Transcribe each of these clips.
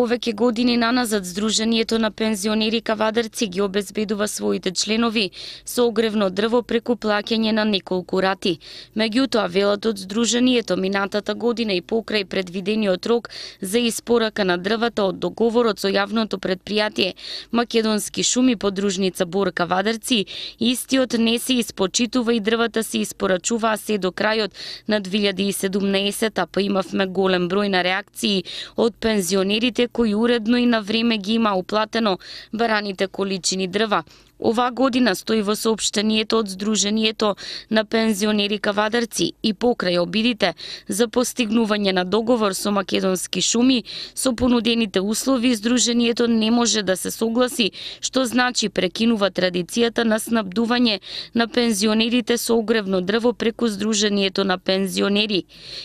повеќе години наназад Сдруженијето на пензионери Кавадарци ги обезбедува своите членови со огревно дрво преку плаќање на неколку рати. Меѓутоа, велат од Сдруженијето, минатата година и покрај предвидениот рок за испорака на дрвата од договорот со јавното предпријатие Македонски шуми подружница Бор Кавадарци, истиот не се испочитува и дрвата се испорачуваа се до крајот на 2017, па имавме голем број на реакции од пензионерите кои уредно и на време ги има уплатено бараните количини дрва. Оваа година, стои во соопштението од Сдруженијето на пензионери Кавадарци, и покрај обидите за постигнување на договор со Македонски шуми, со понудените услови Сдруженијето не може да се согласи, што значи прекинува традицијата на снабдување на пензионерите со огревно дрво преку Сдруженијето на пензионери.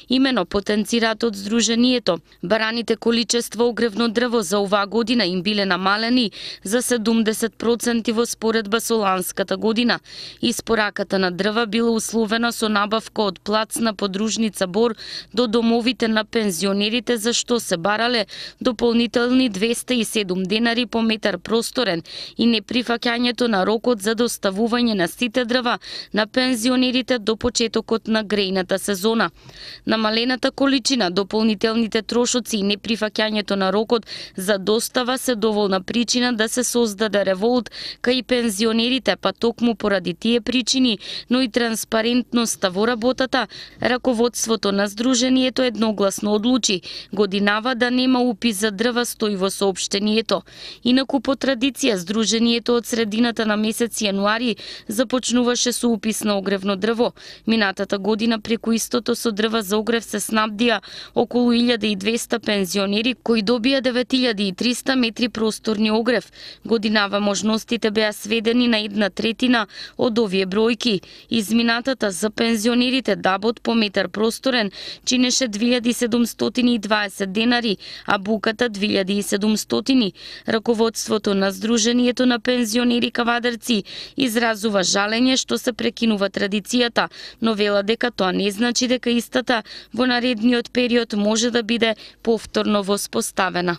Имено потенцираат од Сдруженијето, бараните количества огревно дрво за оваа година им биле намалени за 70% во споредба со ланската година. Испораката на дрва била условена со набавка од плац на подружница Бор до домовите на пензионерите, за што се барале дополнителни 207 денари по метар просторен и неприфаќањето на рокот за доставување на сите дрва на пензионерите до почетокот на грејната сезона. Намалената количина, дополнителните трошоци и неприфаќањето на рокот за достава се доволна причина да се создаде револт кај пензионерите, па токму поради тие причини, но и транспарентноста во работата, раководството на Сдруженијето едногласно одлучи годинава да нема упис за дрва, стои во соопштението. Инаку по традиција Сдруженијето од средината на месец јануари започнуваше со упис на огревно дрво. Минатата година преку истото со дрва за огрев се снабдија околу 1200 пензионери кои добија 9300 метри просторни огрев. Годинава можностите беа сведени на 1/3 од овие бројки. Изминатата за пензионерите дабот по метар просторен чинеше 2720 денари, а буката 2700. Раководството на Сдруженијето на пензионери Кавадарци изразува жалење што се прекинува традицијата, но вела дека тоа не значи дека истата во наредниот период може да биде повторно воспоставена.